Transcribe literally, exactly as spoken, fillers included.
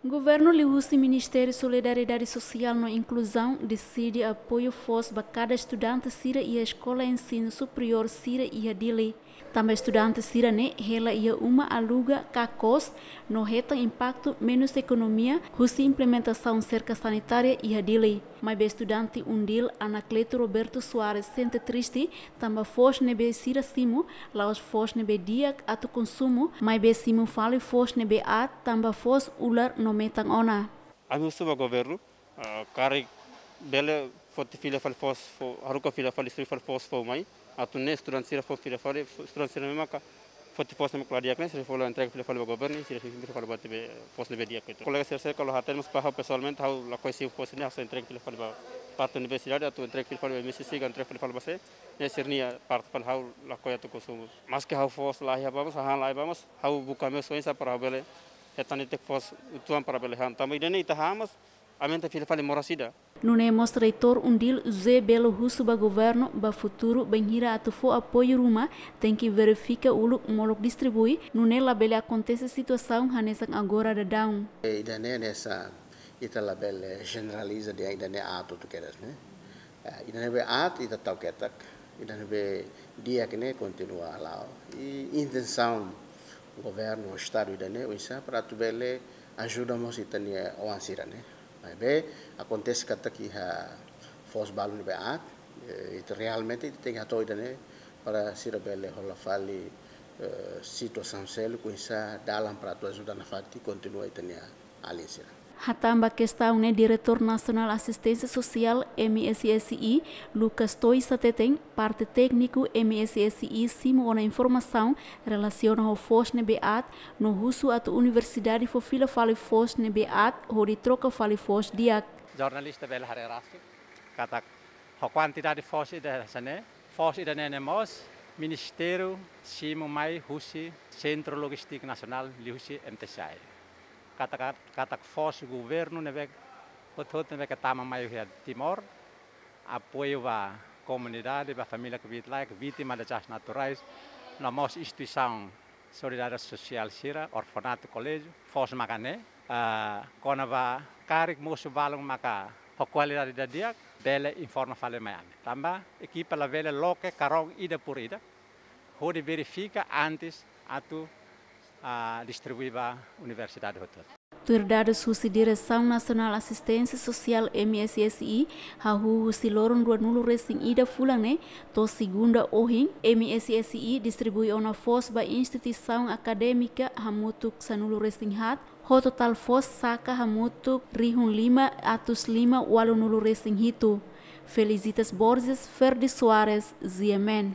Governu liuhusi Ministériu Solidariedade Sosiál no Inkluzaun deside apoiu foos ba kada estudante sira iha eskola ensinu superiór sira iha Dili. Tanba estudante sira-ne'e hela iha uma aluga ka kos no hetan impaktu menus ekonomia husi implementasaun serka sanitária iha Dili. Maibé estudante Undil Anacleto Roberto Soares sente triste tanba foos ne'ebé sira simu la'ós foos ne'ebé di'ak atu konsumu, maibé simu fali foos ne'ebé aat tanba foos ular no metan ona. Ami husu ba governu, ah, karik bele foti fila fali foos fo, haruka fila fali, distribui fali foos fó mai. Atu nune'e estudante sira fó fila fali, fo, estudante sira ne'ebé maka foti foos ne'ebé la di'ak ne'e, sira fó la entrega fila fali ba governu, sira fila fali ba tiha foos ne'ebé di'ak itu. Kolega sira seluk halo hatene, maibé ha'u pesoalmente ha'u lakohi simu foos ne'e, ha'u só entrega fila fali ba parte universidade, atu entrega fila fali ba M S C, ka entrega fila fali ba sé, ne'e sira-nia parte fali, ha'u lakohi atu konsumu. Maske ha'u foos la iha ba mós, hahán la iha ba mós, ha'u buka meius oinsá para ha'u bele hetan ita foos uitoan para bele han. Tanba ida-ne'e ita han, mas aumenta fila fali moras ida. Nune'e mós reitór Undil José Belo husu ba governu ba futuru bainhira atu fó apoiu ruma, tenke verifika uluk molok distribui, nune'e labele akontese situasaun hanesan agora daudaun. Ida-ne'e hanesan ita labele jeneraliza dehan ida-ne'e aat hotu kedas ne'e. Eh, ida ne'ebé aat ita tau ketak, ida ne'ebé di'ak ne'e kontinua hala'o. I intensaun governu, estadu ida-ne'e oinsá para atu bele ajuda mós ita-nia oan sira-ne'e. Maibé akontese katak iha foos balu ne'ebé aat, eh, ita realmente ita tenke hato'o ida-ne'e para sira bele hola fali, eh, situasaun seluk oinsá dalan para atu ajuda nafatin kontinua ita-nia alin sira. Hatán ba kestaun ne'e, Diretór Nasionál Asisténsia Sosiál M S S I, Lucas Tois hateten, parte tékniku M S S I simu ona informasaun relasiona ho foos ne'ebé aat, no husu atu universidade fó fila fali foos ne'ebé aat, hodi troka fali foos di'ak. Jornalista bele haree rasik katak ho kuantidade foos ida hanesan ne'e, foos ida-ne'e ne'e mós Ministériu simu mai husi Sentru Lojístika Nasionál liuhusi M T C I. Katak, katak foos governu ne'ebé hotu-hotu ne'ebé ke tama mai iha Timor, apoiu ba komunidade, ba família kbiit-laek, vítima dezastre naturais, no mós instituisaun solidariedade sosiál sira, orfanatu, koléjiu, foos maka ne'e, ah, kona-ba karik mosu balun maka ho kualidade ida di'ak, bele informa fali mai ami. Tanba ekipa labele loke karón ida por ida, hodi verifika antes atu, ah, distribui ba universidade hotu. Tuir dadus husi Diresaun Nasionál Asisténsia Sosiál M S S I, hahú husi loron ruanulu-resin-ida fulan ne'e to'o segunda ohin, M S S I distribui ona foos ba instituisaun akadémika hamutuk sanulu-resin-haat, ho totál foos saka hamutuk rihun lima atus lima ualunulu-resin-hitu. Felicitas Borges, Ferdi Soares, G M N.